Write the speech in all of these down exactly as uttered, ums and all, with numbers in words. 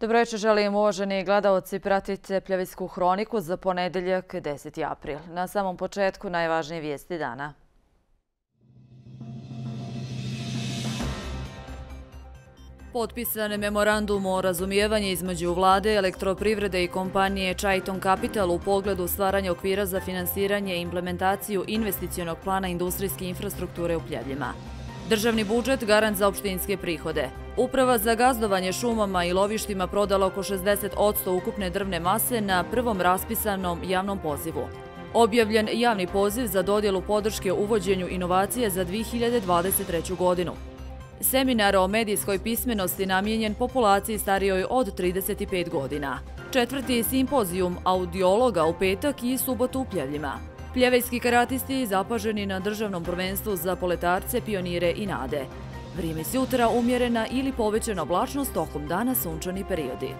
Dobro večer, želim uvaženi gledaoci, pratite Pljevijsku hroniku za ponedeljak deseti april. Na samom početku najvažnije vijesti dana. Potpisan je memorandum o razumijevanju između vlade, elektroprivrede i kompanije Triton Capital u pogledu stvaranja okvira za finansiranje i implementaciju investicionog plana industrijske infrastrukture u Pljevljima. Državni budžet garant za opštinske prihode. Uprava za gazdovanje šumama i lovištima prodala oko šezdeset posto ukupne drvne mase na prvom raspisanom javnom pozivu. Objavljen javni poziv za dodjelu podrške uvođenju inovacije za dvije hiljade dvadeset treću. godinu. Seminar o medijskoj pismenosti namijenjen populaciji starijoj od trideset pet godina. Četvrti simpozijum audiologa u petak i subotu u Pljevljima. Pljevejski karatisti zapaženi na državnom prvenstvu za poletarce, pionire i nade. Vrijeme sutra umjerena ili povećana oblačnost, tokom dana sunčani periodi.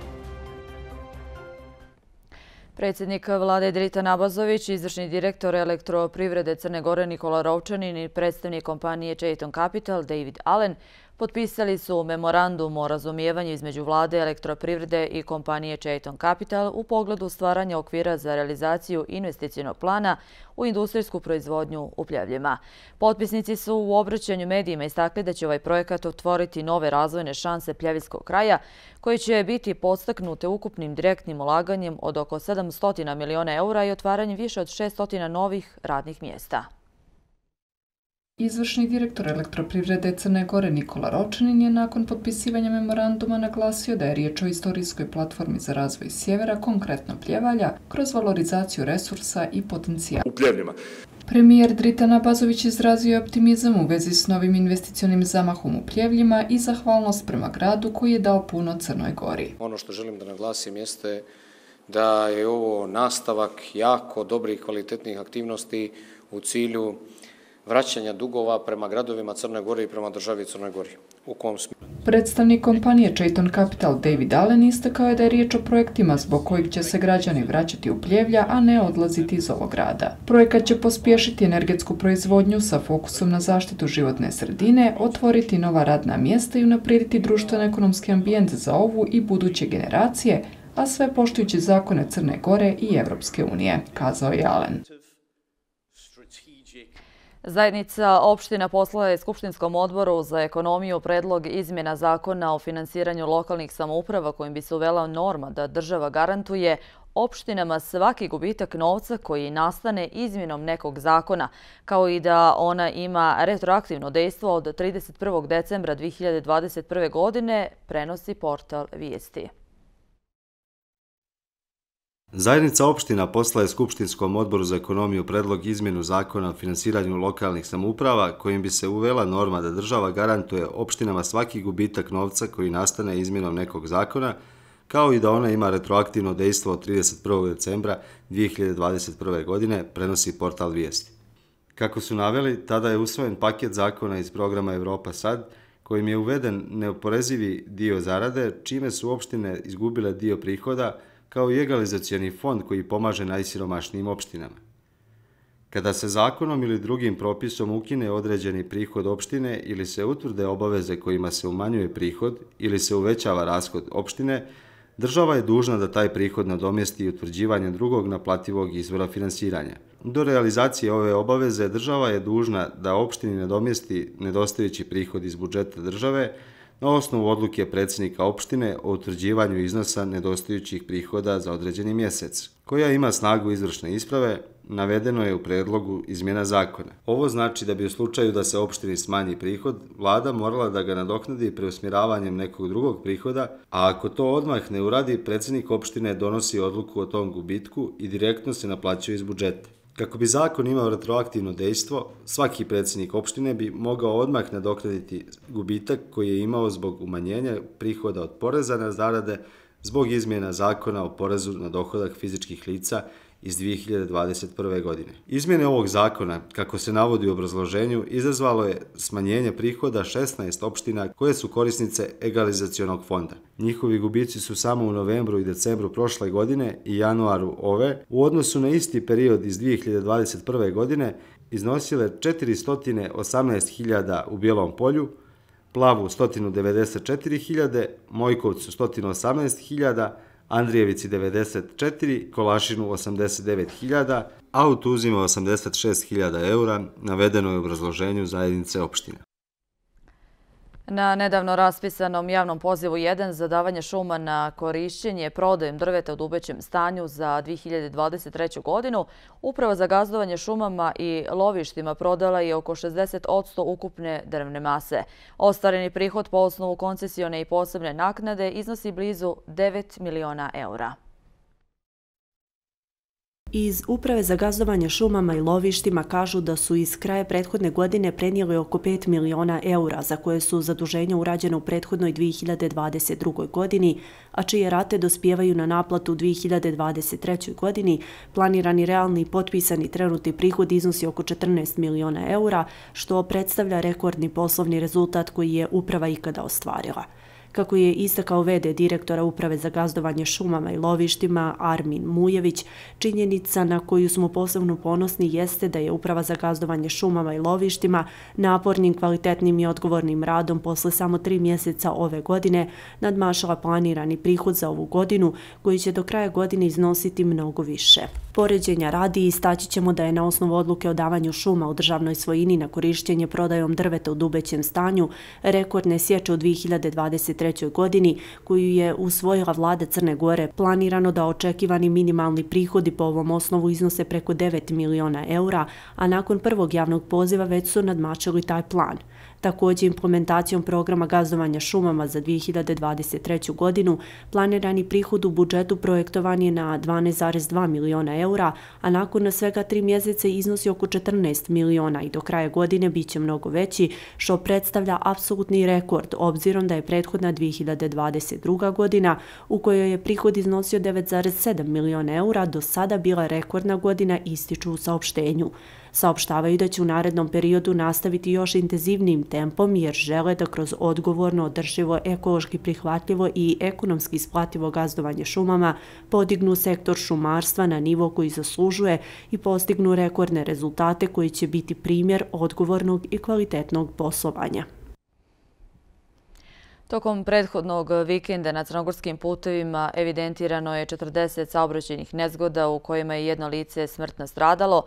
Predsjednik vlade Dritan Abazović, izvršni direktor elektroprivrede Crne Gore Nikola Rovčanin i predstavnik kompanije Triton Capital David Allen potpisali su memorandum o razumijevanju između vlade, elektroprivrede i kompanije Triton Capital u pogledu stvaranja okvira za realizaciju investicionog plana u industrijsku proizvodnju u Pljevljima. Potpisnici su u obraćanju medijima istakli da će ovaj projekat otvoriti nove razvojne šanse Pljevljskog kraja, koji će biti podstaknute ukupnim direktnim ulaganjem od oko sedamsto miliona eura i otvaranjem više od šeststo novih radnih mjesta. Izvršni direktor elektroprivrede Crne Gore Nikola Rovčanin je nakon potpisivanja memoranduma naglasio da je riječ o istorijskoj platformi za razvoj sjevera, konkretno Pljevalja, kroz valorizaciju resursa i potencijala. U Pljevljima. Premijer Dritan Abazović izrazio je optimizam u vezi s novim investicionim zamahom u Pljevljima i zahvalnost prema gradu koji je dao puno Crnoj Gori. Ono što želim da naglasim jeste da je ovo nastavak jako dobrih kvalitetnih aktivnosti u cilju vraćanja dugova prema gradovima Crne Gore i prema državi Crnoj Gori. U kom smislu? Predstavnik kompanije Triton Capital David Allen istakao je da je riječ o projektima zbog kojih će se građani vraćati u Pljevlja, a ne odlaziti iz ovog grada. Projekat će pospješiti energetsku proizvodnju sa fokusom na zaštitu životne sredine, otvoriti nova radna mjesta i unaprijediti društveno-ekonomski ambijent za ovu i buduće generacije, a sve poštujući zakone Crne Gore i Evropske unije, kazao je Allen. Zajednica opština poslala je Skupštinskom odboru za ekonomiju predlog izmjena zakona o finansiranju lokalnih samouprava kojim bi se uvela norma da država garantuje opštinama svaki gubitak novca koji nastane izmjenom nekog zakona, kao i da ona ima retroaktivno dejstvo od trideset prvog decembra dvije hiljade dvadeset prve. godine, prenosi portal Vijesti. Zajednica opština poslala je Skupštinskom odboru za ekonomiju predlog izmjenu zakona o finansiranju lokalnih samouprava kojim bi se uvela norma da država garantuje opštinama svaki gubitak novca koji nastane izmjenom nekog zakona, kao i da ona ima retroaktivno dejstvo od trideset prvog decembra dvije hiljade dvadeset prve. godine, prenosi portal Vijesti. Kako su naveli, tada je usvojen paket zakona iz programa Evropa sad, kojim je uveden neoporezivi dio zarade, čime su opštine izgubile dio prihoda, kao i egalizacioni fond koji pomaže najsiromašnijim opštinama. Kada se zakonom ili drugim propisom ukine određeni prihod opštine ili se utvrde obaveze kojima se umanjuje prihod ili se uvećava rashod opštine, država je dužna da taj prihod nadomjesti utvrđivanjem drugog naplativog izvora finansiranja. Do realizacije ove obaveze država je dužna da opštini nadomjesti nedostajući prihod iz budžeta države na osnovu odluke predsjednika opštine o utvrđivanju iznosa nedostajućih prihoda za određeni mjesec, koja ima snagu izvršne isprave, navedeno je u predlogu izmjena zakona. Ovo znači da bi u slučaju da se opštini smanji prihod, vlada morala da ga nadoknadi preusmjeravanjem nekog drugog prihoda, a ako to odmah ne uradi, predsjednik opštine donosi odluku o tom gubitku i direktno se naplaćuje iz budžeta. Kako bi zakon imao retroaktivno dejstvo, svaki predsjednik opštine bi mogao odmah nadoknaditi gubitak koji je imao zbog umanjenja prihoda od poreza na zarade zbog izmjena zakona o porezu na dohodak fizičkih lica iz dvije hiljade dvadeset prve. godine. Izmjene ovog zakona, kako se navodi u obrazloženju, izazvalo je smanjenje prihoda šesnaest opština koje su korisnice egalizacionog fonda. Njihovi gubici su samo u novembru i decembru prošle godine i januaru ove u odnosu na isti period iz dvije hiljade dvadeset prve. godine iznosile četiristo osamnaest hiljada u Bijelom Polju, Plavu sto devedeset četiri hiljade, Mojkovcu sto osamnaest hiljada, Andrijevici devedeset četiri, Kolašinu osamdeset devet hiljada, a u Tuzima osamdeset šest hiljada eura, navedeno je u obrazloženju zajednice opština. Na nedavno raspisanom javnom pozivu jedan za davanje šuma na korišćenje prodajem drveta u dubećem stanju za dvije hiljade dvadeset treću. godinu, Uprava za gazdovanje šumama i lovištima prodala je oko šezdeset posto ukupne drvne mase. Ostvareni prihod po osnovu koncesione i posebne naknade iznosi blizu devet miliona eura. Iz Uprave za gazdovanje šumama i lovištima kažu da su iz kraja prethodne godine prenijeli oko pet miliona eura za koje su zaduženja urađene u prethodnoj dvije hiljade dvadeset drugoj. godini, a čije rate dospijevaju na naplatu u dvije hiljade dvadeset trećoj. godini. Planirani realni i potpisani trenutni prihod iznosi oko četrnaest miliona eura, što predstavlja rekordni poslovni rezultat koji je Uprava ikada ostvarila. Kako je istakao ve de direktora Uprave za gazdovanje šumama i lovištima Armin Mujević, činjenica na koju smo posebno ponosni jeste da je Uprava za gazdovanje šumama i lovištima napornim, kvalitetnim i odgovornim radom posle samo tri mjeseca ove godine nadmašila planirani prihod za ovu godinu, koji će do kraja godine iznositi mnogo više. Poređenja radi istaći ćemo da je na osnovu odluke o davanju šuma u državnoj svojini na korišćenje prodajom drveta u dubećem stanju rekordne sječe u dvije hiljade dvadeset trećoj. godini, koju je usvojila vlada Crne Gore, planirano da očekivani minimalni prihodi po ovom osnovu iznose preko devet miliona eura, a nakon prvog javnog poziva već su nadmašili taj plan. Također, implementacijom programa gazdovanja šumama za dvije hiljade dvadeset treću. godinu planirani prihod u budžetu projektovan je na dvanaest zarez dva miliona eura, a nakon svega tri mjeseca iznosi oko četrnaest miliona i do kraja godine bit će mnogo veći, što predstavlja apsolutni rekord, obzirom da je prethodna dvije hiljade dvadeset druga. godina, u kojoj je prihod iznosio devet zarez sedam miliona eura, do sada bila rekordna godina, ističu u saopštenju. Saopštavaju da će u narednom periodu nastaviti još intenzivnijim tempom jer žele da kroz odgovorno, održivo, ekološki prihvatljivo i ekonomski isplativo gazdovanje šumama podignu sektor šumarstva na nivo koji zaslužuje i postignu rekordne rezultate koji će biti primjer odgovornog i kvalitetnog poslovanja. Tokom prethodnog vikenda na crnogorskim putevima evidentirano je četrdeset saobraćajnih nezgoda u kojima je jedno lice smrtno stradalo,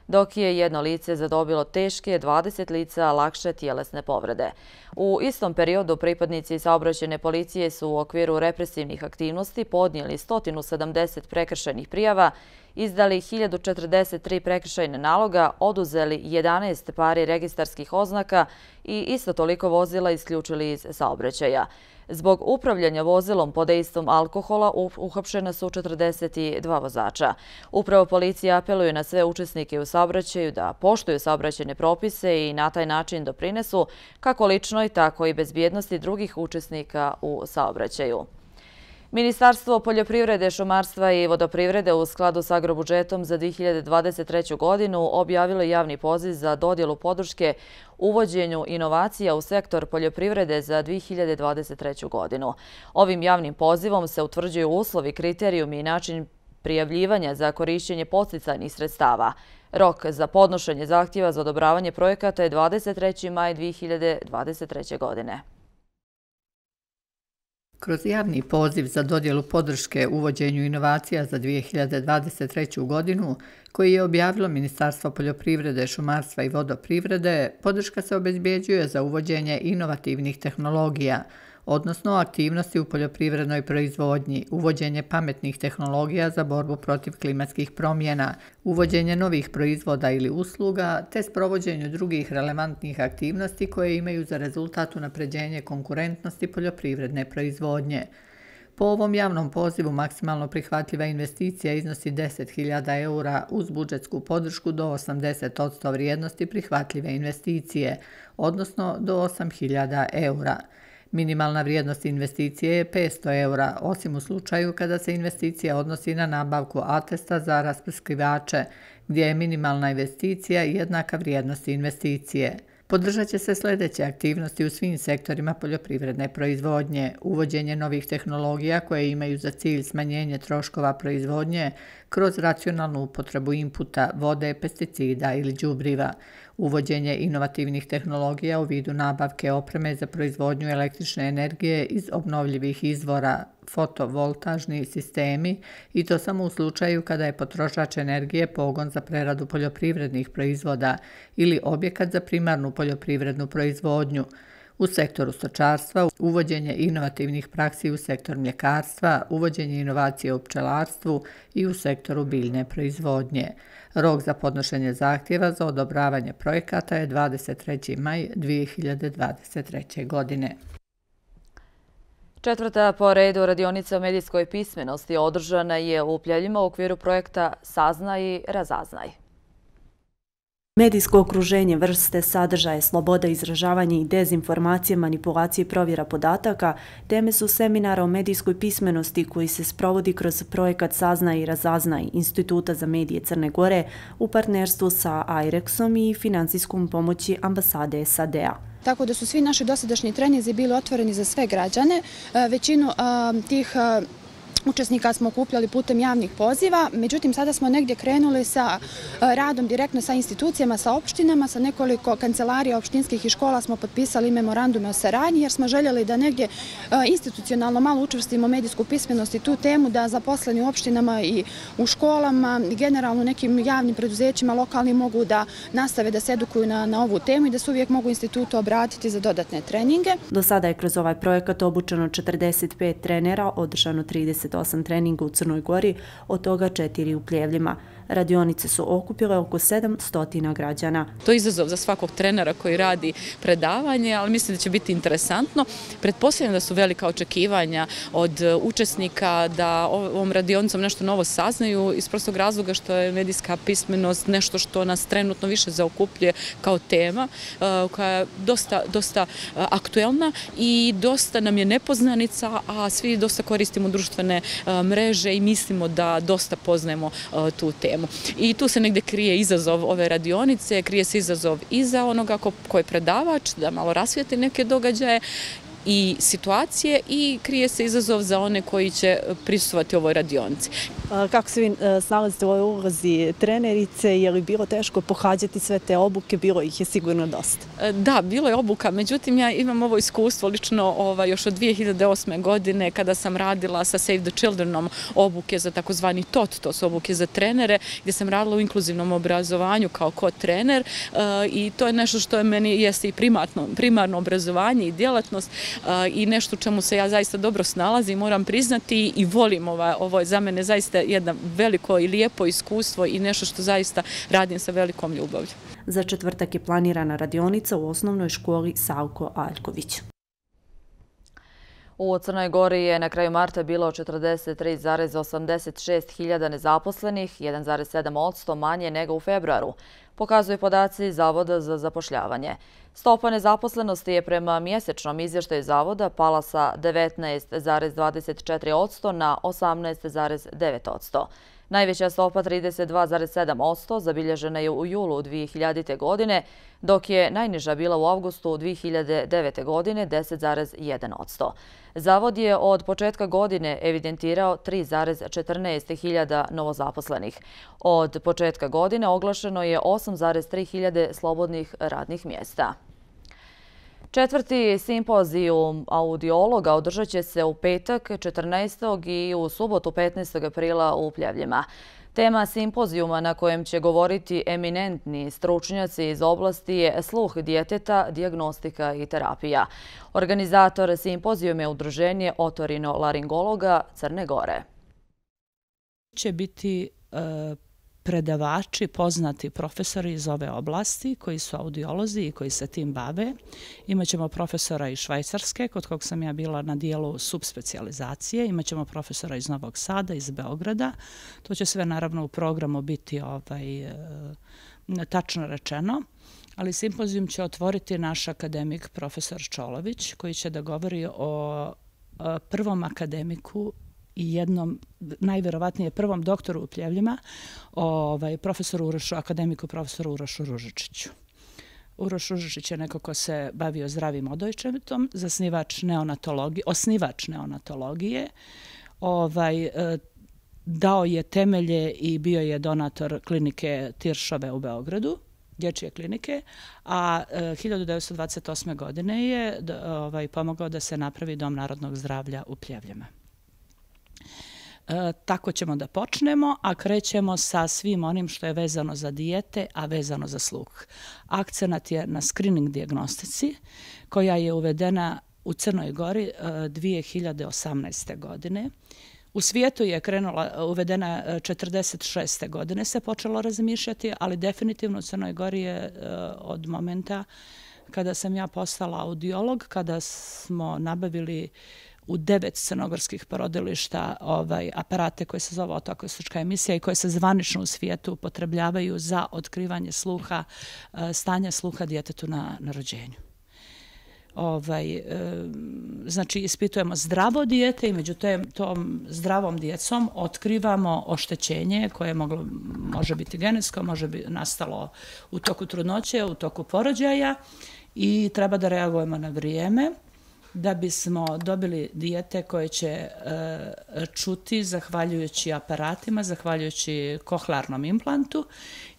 dok je jedno lice zadobilo teške, dvadeset lica lakše tjelesne povrede. U istom periodu pripadnici saobraćajne policije su u okviru represivnih aktivnosti podnijeli sto sedamdeset prekršajnih prijava, izdali hiljadu četrdeset tri prekršajne naloga, oduzeli jedanaest pari registarskih oznaka i isto toliko vozila isključili iz saobraćaja. Zbog upravljanja vozilom pod dejstvom alkohola uhapšena su četrdeset dva vozača. Upravo policija apeluje na sve učesnike u saobraćaju da poštuju saobraćajne propise i na taj način doprinesu kako ličnoj, tako i bezbjednosti drugih učesnika u saobraćaju. Ministarstvo poljoprivrede, šumarstva i vodoprivrede u skladu s agrobudžetom za dvije hiljade dvadeset treću. godinu objavilo javni poziv za dodjelu podrške uvođenju inovacija u sektor poljoprivrede za dvije hiljade dvadeset treću. godinu. Ovim javnim pozivom se utvrđuju uslovi, kriterijumi i način prijavljivanja za korišćenje podsticajnih sredstava. Rok za podnošenje zahtjeva za odobravanje projekata je dvadeset treći maj dvije hiljade dvadeset treće. godine. Kroz javni poziv za dodjelu podrške uvođenju inovacija za dvije hiljade dvadeset treću. godinu, koji je objavilo Ministarstvo poljoprivrede, šumarstva i vodoprivrede, podrška se obezbjeđuje za uvođenje inovativnih tehnologija, odnosno aktivnosti u poljoprivrednoj proizvodnji, uvođenje pametnih tehnologija za borbu protiv klimatskih promjena, uvođenje novih proizvoda ili usluga, te sprovođenju drugih relevantnih aktivnosti koje imaju za rezultat unapređenje konkurentnosti poljoprivredne proizvodnje. Po ovom javnom pozivu maksimalno prihvatljiva investicija iznosi deset hiljada eura uz budžetsku podršku do osamdeset posto vrijednosti prihvatljive investicije, odnosno do osam hiljada eura. Minimalna vrijednost investicije je petsto eura, osim u slučaju kada se investicija odnosi na nabavku atesta za rasprskivače, gdje je minimalna investicija jednaka vrijednosti investicije. Podržat će se sljedeće aktivnosti u svim sektorima poljoprivredne proizvodnje, uvođenje novih tehnologija koje imaju za cilj smanjenje troškova proizvodnje kroz racionalnu upotrebu inputa, vode, pesticida ili đubriva, uvođenje inovativnih tehnologija u vidu nabavke opreme za proizvodnju električne energije iz obnovljivih izvora, fotovoltažni sistemi i to samo u slučaju kada je potrošač energije pogon za preradu poljoprivrednih proizvoda ili objekat za primarnu poljoprivrednu proizvodnju. U sektoru stočarstva, uvođenje inovativnih praksi u sektor mljekarstva, uvođenje inovacije u pčelarstvu i u sektoru biljne proizvodnje. Rok za podnošenje zahtjeva za odobravanje projekata je dvadeset treći maj dvije hiljade dvadeset treće. godine. Četvrta po redu radionica o medijskoj pismenosti održana je u Pljevljima u okviru projekta Saznaj i razaznaj. Medijsko okruženje, vrste, sadržaje, sloboda izražavanja i dezinformacije, manipulacije i provjera podataka teme su seminara o medijskoj pismenosti koji se sprovodi kroz projekat Saznaj i razaznaj Instituta za medije Crne Gore u partnerstvu sa Airexom i financijskom pomoći ambasade S A D-a. Tako da su svi naši dosadašnji treninzi bili otvoreni za sve građane. Većinu tih učesnika smo okupljali putem javnih poziva, međutim sada smo negdje krenuli sa radom direktno sa institucijama, sa opštinama, sa nekoliko kancelarija opštinskih i škola smo potpisali memorandume o saradnji jer smo željeli da negdje institucionalno malo učvrstimo medijsku pismenost i tu temu da zaposleni u opštinama i u školama i generalno nekim javnim preduzećima lokalni mogu da nastave da se edukuju na, na ovu temu i da se uvijek mogu institutu obratiti za dodatne treninge. Do sada je kroz ovaj projekat obučeno četrdeset pet trenera, održano trideset osam treninga u Crnoj Gori, od toga četiri u Pljevljima. Radionice su okupile oko sedamsto građana. To je izazov za svakog trenera koji radi predavanje, ali mislim da će biti interesantno. Pretpostavljam da su velika očekivanja od učesnika da ovom radionicom nešto novo saznaju iz prostog razloga što je medijska pismenost nešto što nas trenutno više zaokupljuje kao tema, koja je dosta, dosta aktuelna i dosta nam je nepoznanica, a svi dosta koristimo društvene mreže i mislimo da dosta poznajemo tu temu. I tu se negdje krije izazov ove radionice, krije se izazov i za onoga ko, ko je predavač, da malo rasvijeti neke događaje i situacije i krije se izazov za one koji će prisustvovati ovoj radionici. Kako se vi snalazite u ovoj ulozi trenerice? Je li bilo teško pohađati sve te obuke? Bilo ih je sigurno dosta. Da, bilo je obuka, međutim ja imam ovo iskustvo lično ovaj, još od dvije hiljade osme. godine kada sam radila sa Save the Childrenom obuke za takozvani T O T, to su obuke za trenere, gdje sam radila u inkluzivnom obrazovanju kao ko-trener i to je nešto što je meni jeste i primarno, primarno obrazovanje i djelatnost i nešto u čemu se ja zaista dobro snalazim, moram priznati i volim ovo, ovo je za mene zaista jedno veliko i lijepo iskustvo i nešto što zaista radim sa velikom ljubavlju. Za četvrtak je planirana radionica u osnovnoj školi Savko Aljković. U Crnoj Gori je na kraju marta bilo četrdeset tri zarez osamdeset šest hiljada nezaposlenih, jedan zarez sedam posto manje nego u februaru, pokazuju podaci Zavoda za zapošljavanje. Stopa nezaposlenosti je prema mjesečnom izvještaju Zavoda pala sa devetnaest zarez dvadeset četiri posto na osamnaest zarez devet posto. Najveća stopa trideset dva zarez sedam posto zabilježena je u julu dvije hiljadite. godine, dok je najniža bila u avgustu dvije hiljade devete. godine deset zarez jedan posto. Zavod je od početka godine evidentirao tri zarez četrnaest hiljada novozaposlenih. Od početka godine oglašeno je osam zarez tri hiljade slobodnih radnih mjesta. Četvrti simpozijum audiologa održat će se u petak četrnaestog i u subotu petnaestog aprila u Pljevljima. Tema simpozijuma na kojem će govoriti eminentni stručnjaci iz oblasti je sluh djeteta, dijagnostika i terapija. Organizator simpozijuma je Udruženje otorinolaringologa Crne Gore. Će biti e, predavači, poznati profesori iz ove oblasti koji su audiolozi i koji se tim bave. Imaćemo profesora iz Švajcarske, kod kog sam ja bila na dijelu subspecijalizacije. Imaćemo profesora iz Novog Sada, iz Beograda. To će sve naravno u programu biti ovaj, e, tačno rečeno. Ali simpozijum će otvoriti naš akademik profesor Čolović, koji će da govori o, o prvom akademiku i jednom, najverovatnije prvom doktoru u Pljevljima, ovaj, profesoru Urošu, akademiku profesoru Urošu Ružičiću. Uroš Ružičić je neko ko se bavio zdravim odojčetom, zasnivač neonatologije, osnivač neonatologije, ovaj, dao je temelje i bio je donator klinike Tiršove u Beogradu dječje klinike, a hiljadu devetsto dvadeset osme. godine je ovaj, pomogao da se napravi Dom narodnog zdravlja u Pljevljama. E, tako ćemo da počnemo, a krećemo sa svim onim što je vezano za dijete, a vezano za sluh. Akcenat je na screening dijagnostici, koja je uvedena u Crnoj Gori e, dvije hiljade osamnaeste. godine. U svijetu je krenula, uvedena četrdeset šeste. godine se počelo razmišljati, ali definitivno u Crnoj Gori je e, od momenta kada sam ja postala audiolog, kada smo nabavili u devet crnogorskih porodilišta ovaj, aparate koje se zove otoakustička emisija i koje se zvanično u svijetu upotrebljavaju za otkrivanje sluha, stanja sluha djetetu na, na rođenju. Ovaj, e, znači, ispitujemo zdravo dijete i među tom zdravom djecom otkrivamo oštećenje koje moglo, može biti genetsko, može biti nastalo u toku trudnoće, u toku porođaja i treba da reagujemo na vrijeme da bismo dobili dijete koje će e, čuti zahvaljujući aparatima, zahvaljujući kohlearnom implantu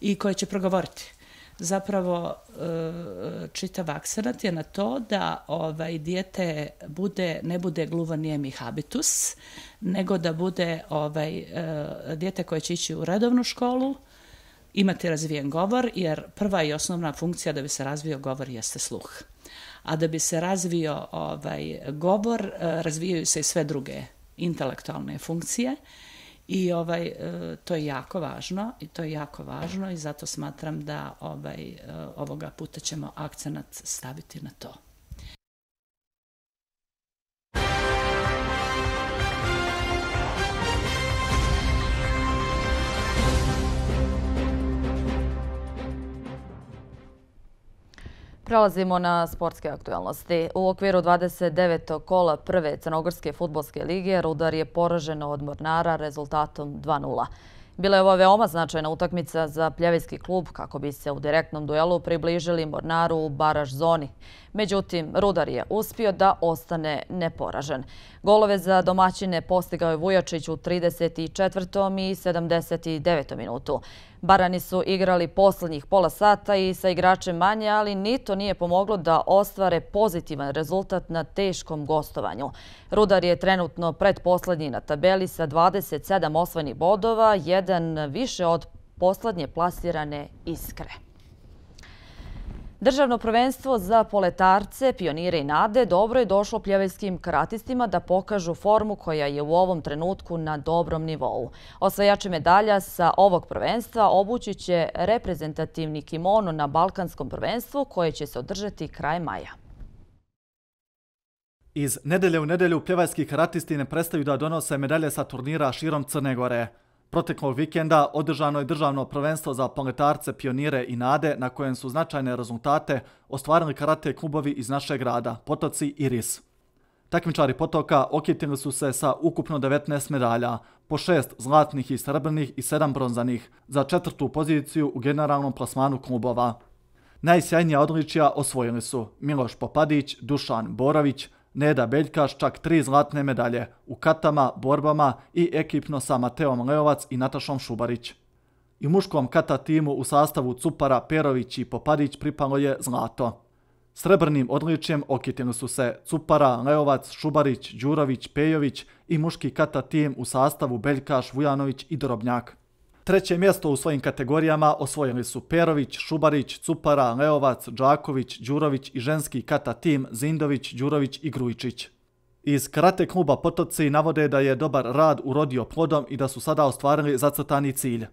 i koje će progovoriti. Zapravo e, čitav akcenat je na to da ovaj, dijete bude, ne bude gluvo-nijemi habitus, nego da bude ovaj, e, dijete koje će ići u redovnu školu, imati razvijen govor, jer prva i osnovna funkcija da bi se razvio govor jeste sluh. A da bi se razvio ovaj, govor, razvijaju se i sve druge intelektualne funkcije i ovaj, to je jako važno i to je jako važno i zato smatram da ovaj, ovoga puta ćemo akcenat staviti na to. Prelazimo na sportske aktualnosti. U okviru dvadeset devetog kola prve Crnogorske fudbalske lige Rudar je poražen od Mornara rezultatom dva nula. Bila je ovo veoma značajna utakmica za Pljevljski klub kako bi se u direktnom duelu približili Mornaru u baraž zoni. Međutim, Rudar je uspio da ostane neporažen. Golove za domaćine postigao je Vujačić u trideset četvrtom i sedamdeset devetom minutu. Barani su igrali posljednjih pola sata i sa igračem manje, ali ni to nije pomoglo da ostvare pozitivan rezultat na teškom gostovanju. Rudar je trenutno pretposlednji na tabeli sa dvadeset sedam osvojenih bodova, jedan više od poslednje plasirane Iskre. Državno prvenstvo za poletarce, pionire i nade dobro je došlo pljeveljskim karatistima da pokažu formu koja je u ovom trenutku na dobrom nivou. Osvajači medalja sa ovog prvenstva obući će reprezentativni kimono na Balkanskom prvenstvu koje će se održati kraj maja. Iz nedelje u nedelju pljevaljski karatisti ne prestaju da donose medalje sa turnira širom Crne Gore. Proteklog vikenda održano je državno prvenstvo za poletarce, pionire i nade na kojem su značajne rezultate ostvarili karate klubovi iz našeg grada, Potoci i Ris. Takmičari Potoka okitili su se sa ukupno devetnaest medalja, po šest zlatnih i srebrnih i sedam bronzanih, za četvrtu poziciju u generalnom plasmanu klubova. Najsjajnija odličija osvojili su Miloš Popadić, Dušan Borović, Neda Beljkaš čak tri zlatne medalje u katama, borbama i ekipno sa Mateom Leovac i Natašom Šubarić. I u muškom kata timu u sastavu Cupara, Perović i Popadić pripalo je zlato. Srebrnim odličjem okitili su se Cupara, Leovac, Šubarić, Đurović, Pejović i muški kata tim u sastavu Beljkaš, Vujanović i Drobnjak. Treće mjesto u svojim kategorijama osvojili su Perović, Šubarić, Cupara, Leovac, Đaković, Đurović i ženski kata tim Zindović, Đurović i Grujičić. Iz karate kluba Potoci navode da je dobar rad urodio plodom i da su sada ostvarili zacrtani cilj.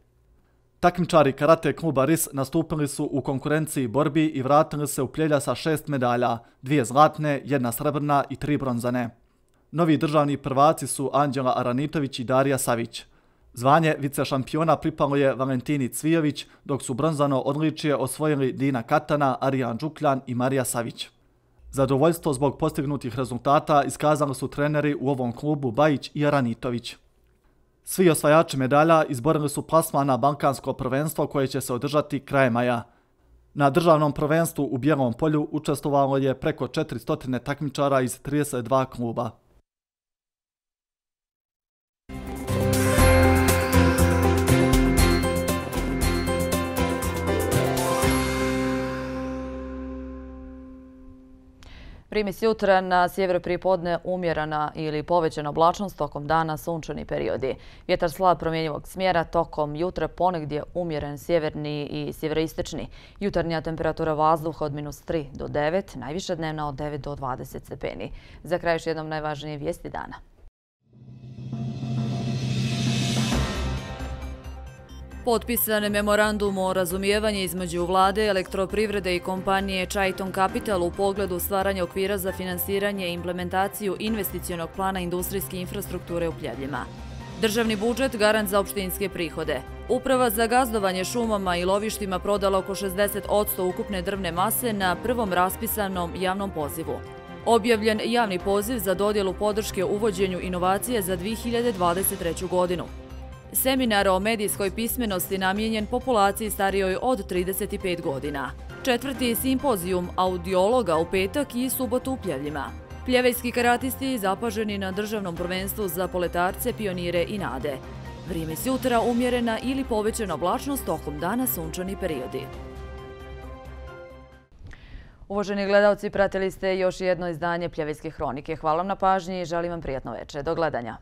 Takmičari karate kluba Ris nastupili su u konkurenciji borbi i vratili se u Pljevlja sa šest medalja, dvije zlatne, jedna srebrna i tri bronzane. Novi državni prvaci su Anđela Aranitović i Darija Savić. Zvanje vice šampiona pripalo je Valentini Cvijović, dok su bronzano odličje osvojili Dina Katana, Arijan Đukljan i Marija Savić. Zadovoljstvo zbog postignutih rezultata iskazali su treneri u ovom klubu Bajić i Aranitović. Svi osvajači medalja izborili su plasman na Balkansko prvenstvo koje će se održati kraj maja. Na državnom prvenstvu u Bijelom polju učestvovalo je preko četiristo takmičara iz trideset dva kluba. Primis jutra, na sjeveru pripodne umjerena ili povećana oblačnost, tokom dana sunčani periodi. Vjetar slab promjenjivog smjera, tokom jutra ponegdje umjeren sjeverni i sjeveroistočni. Jutarnja temperatura vazduha od minus tri do devet, najviša dnevna od devet do dvadeset stepeni. Za kraj još jednom najvažnije vijesti dana. Potpisan je memorandum o razumijevanju između vlade, elektroprivrede i kompanije Triton Capital u pogledu stvaranja okvira za finansiranje i implementaciju investicionog plana industrijske infrastrukture u Pljevljima. Državni budžet garant za opštinske prihode. Uprava za gazdovanje šumama i lovištima prodala oko šezdeset posto ukupne drvne mase na prvom raspisanom javnom pozivu. Objavljen javni poziv za dodjelu podrške uvođenju inovacije za dvije hiljade dvadeset treću godinu. Seminar o medijskoj pismenosti namijenjen populaciji starijoj od trideset pet godina. Četvrti simpozijum audiologa u petak i subotu u Pljevljima. Pljevejski karatisti zapaženi na državnom prvenstvu za poletarce, pionire i nade. Vrijeme s jutra umjerena ili povećana oblačnost, tokom dana sunčani periodi. Uvaženi gledalci, pratili ste još jedno izdanje Pljevejske hronike. Hvala vam na pažnji i želim vam prijatno večer. Do gledanja.